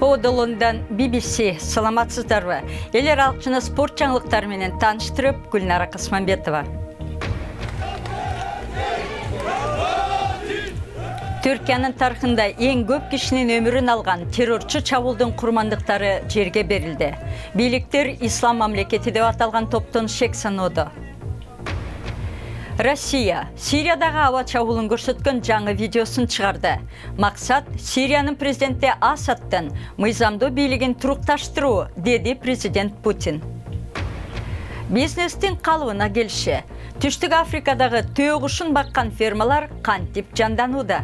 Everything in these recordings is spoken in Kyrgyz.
Kodolundan BBC саламатсыздарбы? Элер алчыны спорт жаңылыктары менен тааныштырып, Гүлнара Касманбетова. Түркиянын тарыхында эң көп кишинин өмүрүн алган террорчу чабуулдун курмандыктары жерге берилди. Бийликтер Ислам мамлекети деп аталган топтон шек саноодо. Россия Сириядагы аба чабуулун көрсөткөн жаңы видеосун чыгарды. Максат Сириянын президенти Асадтын мыйзамдуу бийлигин турукташтыруу, деди президент Путин. Бизнестин калыбына келиши. Түштүк Африкадагы төө кушун баккан фермалар кантип жанданууда?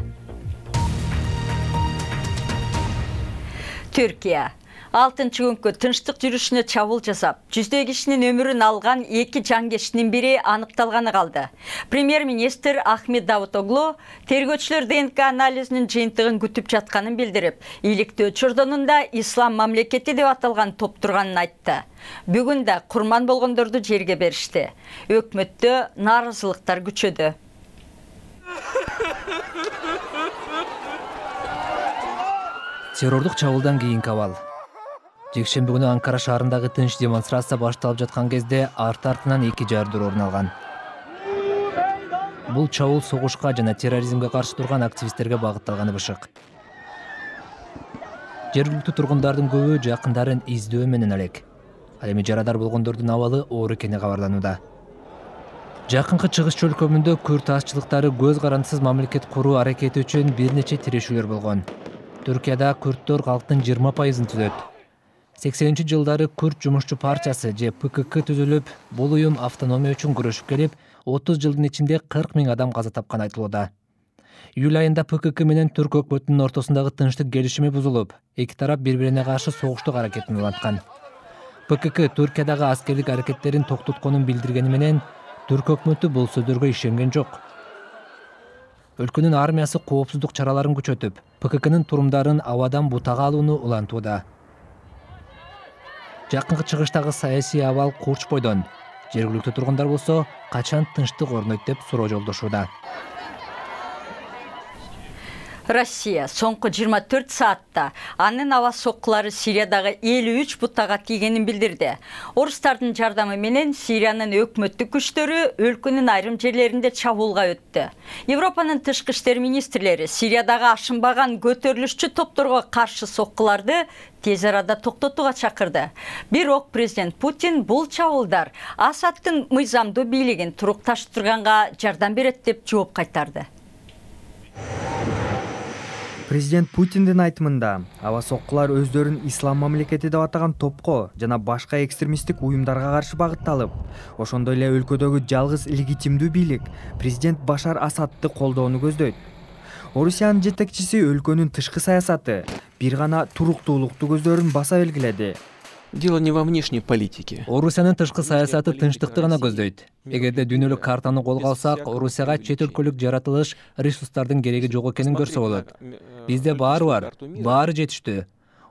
Түркия 6-күнгө тынчтык жүрүшүнө чабуул жасап, жүздөй кишинин өмүрүн алган 2 жангешинин бири аныкталганы калды. Премьер-министр Ахмед Давутоглу тергөөчүлөр ДНК анализинин жыйынтыгын күтүп жатканын билдирип, иликтөө чордонунда Ислам мамлекети деп аталган топ турганын айтты. Бүгүн да курман болгондорду жерге беришти. Өкмөттө нааразылыктар күчөдү. Террордук чабуулдан кийинки абал. Жекшемби күнү Анкара шаарындагы тынч демонстрация башталып жаткан кезде арт-артынан 2 жардыр орун алган. Бул чабуул согушка жана терроризмге каршы турган активисттерге багытталганы бышык. Жергиликтүү тургундардын көбү жакындарын издөө менен элек. Ал эми жарадар болгондордун абалы оор экени кабарланууда. Жакынкы чыгыш чөлкөмүндө күрт азчылыктары көз карандысыз мамлекет куруу аракети үчүн бир нече тирешүүлөр болгон. Түркияда күрттөр калктын 20% түзөт. 80-жылдары Күрт жумушчу партиясы же ПКК түзүлүп, бул уюм автономия үчүн күрөшүп келип, 30 жылдын ичинде 40 000 адам каза тапкан айтылууда. Июль айында ПКК менен түрк өкмөтүнүн ортосундагы тынчтык келишими бузулуп, эки тарап бири-бирине каршы согуштук аракетин уланткан. ПКК Түркиядагы аскерлик аракеттерин токтотконун билдиргени менен, түрк өкмөтү бул сөздөргө ишенген жок. Өлкөнүн армиясы коопсуздук чараларын күчөтүп, ПККнын турумдарын абадан бутага алууну улантууда. Жакынкы чыгыштагы саясий абал курч бойдон. Жергиликтүү тургундар болсо, качан тынчтык орнойт деп суроо жолдошууда. Россия соңку 24 саатта анын аба соккулары Сириядагы 53 бутага тийгенин билдирди. Орустардын жардамы менен Сириянын өкмөттүк күчтөрү өлкөнүн айрым жерлеринде чабуулга өттү. Европанын тышкы иштер министрлери Сириядагы ашынбаган көтөрүлүшчү топторго каршы соккуларды тез арада токтотууга чакырды. Бирок президент Путин бул чабуулдар Асадтын мыйзамдуу бийлигин турукташтырганга жардам берет деп жооп кайтарды. Президент Путиндин айтымында, аба соккулар өздөрүн Ислам мамлекети деп атаган топко жана башка экстремисттик уюмдарга каршы багытталып, ошондой эле өлкөдөгү жалгыз легитимдүү бийлик президент Башар Асадты колдоону көздөйт. Орусиянын жетекчиси өлкөнүн тышкы саясаты бир гана туруктуулукту көздөрүн баса белгиледи. Дело не во внешней политике. Орусиянын тышкы саясаты тынчтыкты гана көздөйт. Эгерде дүйнөлүк картаны колго алсак, Орусияга чет өлкөлүк жаратылыш, ресурстардын кереги жок экенин көрсө болот. Бизде баары бар, баары жетиштүү.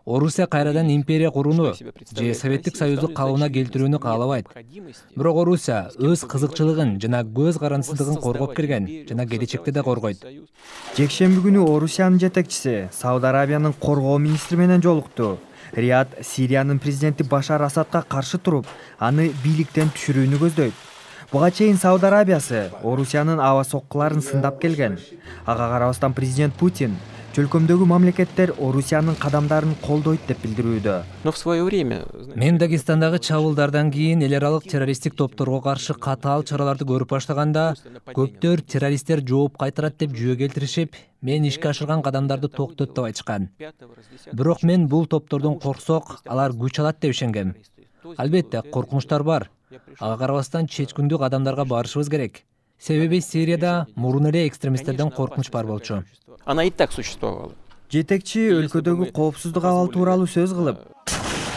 Орусия кайрадан империя курууну же Советтик Союздук калыбына келтирүүнү каалабайт. Бирок Орусия өз кызыкчылыгын жана көз карандысыздыгын коргоп келген жана келечекте да коргойт. Жекшемби күнү Орусиянын жетекчиси Сауд Арабиянын коргоо министри менен жолукту. Риад Сириянын президенти Башар Асадка каршы туруп, аны бийликтен түшүрүүнү көздөйт. Буга чейин Сауд Арабиясы Орусиянын аба соккуларын сындап келген. Ага карабастан президент Путин чөлкөмдөгү мамлекеттер Орусиянын кадамдарын колдойт деп билдирүүдө. Но в свое время Мен Дагестандагы чабуулдардан кийин эл аралык террористтик топторго каршы катаал чараларды көрүп баштаганда, көптөр террористтер жооп кайтарат деп жүйө келтиришип, мен ишке ашырган кадамдарды токтот деп айтышкан. Бирок мен бул топтордон корксок, алар күч алат деп ишенгем. Албетте, коркунучтар бар. Ага карабастан чечкиндүү кадамдарга барышыбыз керек. Себеби Сирияда мурун эле экстремисттерден коркунуч бар болчу. Она и так существовала. Жетекчи өлкөдөгү коопсуздук абалы тууралуу сөз кылып,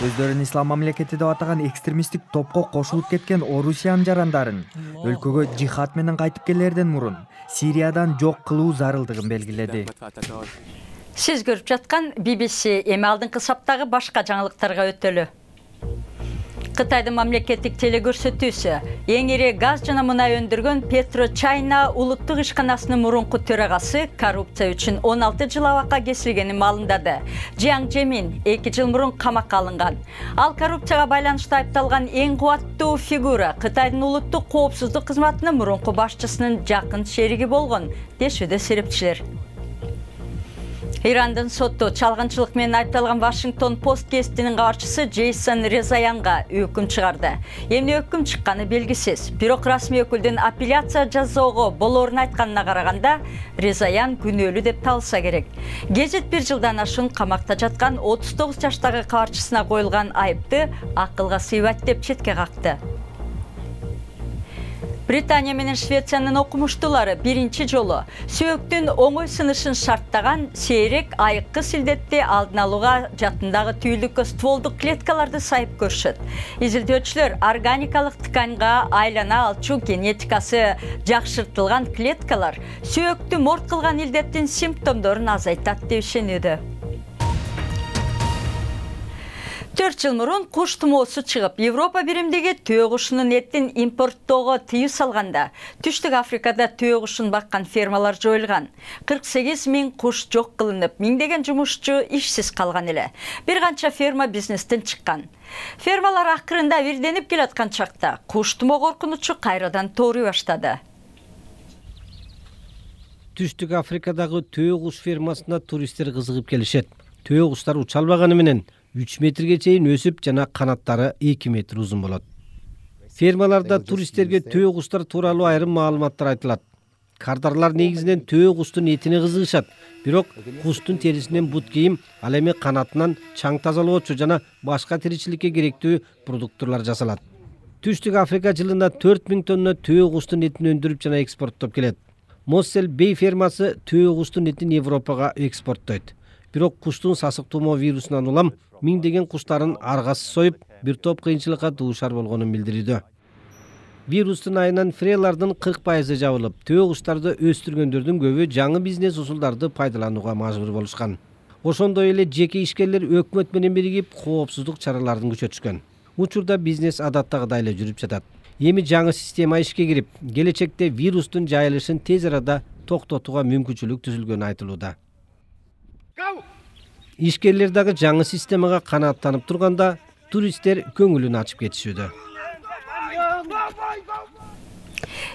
өздөрүн Ислам мамлекети деп атаган экстремисттик топко кошулуп кеткен Орусиянын жарандарын өлкөгө жихад менен кайтып келерден мурун Сириядан жок кылуу зарылдыгын белгиледи. Сиз көрүп жаткан BBC эми алдыңкы саптагы башка жаңылыктарга өтөлү. Кытайдын мамлекеттик телекөрсөтүүсү эң ири газ жана мунай өндүргөн PetroChina улуттук ишканасынын мурунку төрагасы коррупция үчүн 16 жыл абакка кесилгенин маалымдады. Jiang Zemin 2 жыл мурун камакка алынган. Ал коррупцияга байланыштуу айыпталган эң кубаттуу фигура Кытайдын улуттук коопсуздук кызматынын мурунку башчысынын жакын шериги болгон дешүүдө серепчилер. Ирандын соту чалгынчылык менен айыпталган Washington Post гезитинин кабарчысы Джейсон Резаянга өкүм чыгарды. Эмне өкүм чыкканы белгисиз. Бирок расмий өкүлдүн апелляция жазоого болоорун айтканына караганда, Резаян күнөөлүү деп табылса керек. Гезит 1 жылдан ашуун камакта жаткан 39 жаштагы кабарчысына коюлган айыпты акылга сыйбайт деп четке какты. Британия менен Швециянын окумуштуулары биринчи жолу сөөктүн оңой сынышын шарттаган сейрек айыккы силдетти алдын алууга жатындагы түйүлдүккө стволдук клеткаларды сайып көрүшөт. Изилдөөчүлөр органикалык тканьга айлана алчу генетикасы жакшыртылган клеткалар сөөктү морт кылган илдеттин симптомдорун азайтат деп ишенүүдө. 4 жыл мурун куш тумоосу чыгып, Европа биримдиги төө кушунун этин импорттоого тыюу салганда, Түштүк Африкада төө кушун баккан фермалар жоюлган. 48 000 куш жок кылынып, миңдеген жумушчу ишсиз калган эле. Бир канча ферма бизнестен чыккан. Фермалар акырында бирденип келаткан чакта, куш тумоо коркунучу кайрадан тоорой баштады. Түштүк Африкадагы төө куш фермасына туристтер кызыгып келишет. Төө куштар уча албаганы менен 3 метрге чейин өсүп жана канаттары 2 метр узун болот. Фермаларда туристтерге төө куштар тууралуу айрым маалыматтар айтылат. Кардарлар негизинен төө куштун этине кызыгышат, бирок куштун терисинен бут кийим, ал эми канатынан чаң тазалоочу жана башка тиричиликке керектүү продукттар жасалат. Түштүк Африка жылына 4000 тонна төө куштун этин өндүрүп жана экспорттоп келет. Моссел Бей фермасы төө куштун этин Европага экспорттойт. Бирок куштун сасык тумоо вирусунан улам миңдеген куштарын аргасыз союп, бир топ кыйынчылыкка дуушар болгонун билдирүүдө. Вирустун айынан фрелардын 40% жабылып, төө куштарды өстүргөндөрдүн көбү жаңы бизнес усулдарды пайдаланууга мажбур болушкан. Ошондой эле жеке ишкерлер өкмөт менен биригип коопсуздук чараларын күчөтүшкөн. Учурда бизнес адаттагыдай эле жүрүп жатат. Эми жаңы система ишке кирип, келечекте вирустун жайылышын тез арада токтотууга мүмкүнчүлүк түзүлгөнү айтылууда. Ишкерлер дагы жаңы системага канааттанып турганда, туристтер көңүлүн ачып кетишүүдө.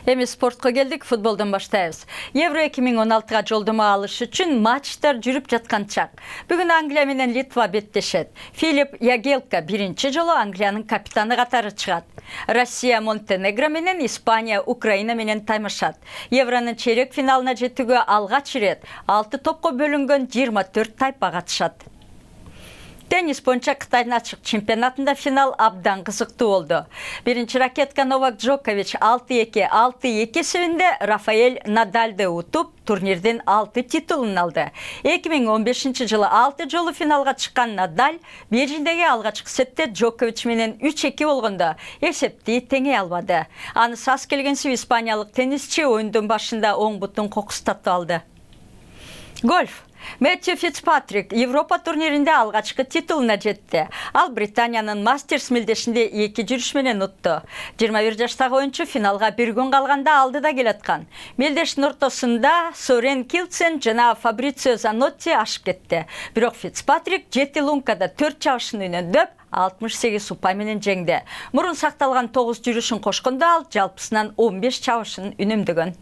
Эми спортко келдик, футболдон баштайбыз. Евро 2016-га жолдомо алыш үчүн матчтар жүрүп жаткан чак. Бүгүн Англия менен Литва беттешет. Филип Ягелка биринчи жолу Англиянын капитаны катары чыгат. Россия Монтенегро менен, Испания Украина менен таймашат. Евронун чейрек финалына жетүүгө алгач ирет 6 топко бөлүнгөн 24 тайпа катышат. Теннис боюнча Кытайдын ачык чемпионатында финал абдан кызыктуу болду. Биринчи ракетка Новак Джокович 6-2, 6-2 эсебинде Рафаэль Надальды утуп, турнирдин 6 титулун алды. 2015 жылы 6 жолу финалга чыккан Надаль Бейжиңдеги алгачкы сетте Джокович менен 3-2 болгондо эсепти теңей албады. Аны сас келгенсип испаниялык теннисчи оюндун башында оң бутун кокустатып алды. Гольф. Мэтью Фицпатрик Европа турниринде алгачкы титулуна жетти. Ал Британиянын Мастерс мелдешинде 2 жүрүш менен утту. 21 жаштагы оюнчу финалга бир күн калганда алдыда келаткан. Мелдештин ортосунда Сорен Килсен жана Фабрицио Занотти ашып кетти. Бирок Фицпатрик 7 лункада 4 чабышын үнөндөп 68 упай менен жеңди. Мурун сакталган 9 жүрүшүн кошкондо ал жалпысынан 15 чабышын үнөмдөгөн.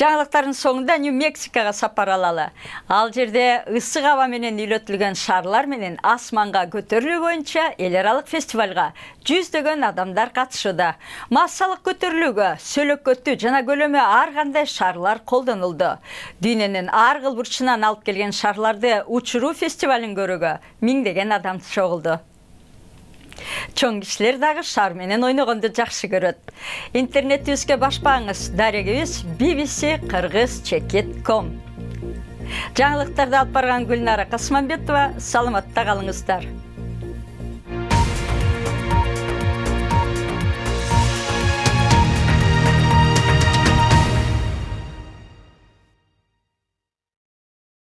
Жаңылыктардын соңунда Нью-Мексикага сапар алалы. Ал жерде ысык аба менен үйлөтүлгөн шарлар менен асманга көтөрүлүү боюнча эл аралык фестивалга жүздөгөн адамдар катышууда. Массалык көтөрүлүүгө сөлөкөтү жана көлөмү ар кандай шарлар колдонулду. Дүйнөнүн ар кыл бурчунан алып келген шарларды учуруу фестивалын көрүүгө миңдеген адам чогулду. Чоң кишилер дагы шар менен ойногонду жакшы көрөт. Интернетибизге башпаңыз, дарегибиз bbc-kыргыз.com. Жаңылыктарды алып барган Гүлнара Касманбетова, саламатта калыңыздар.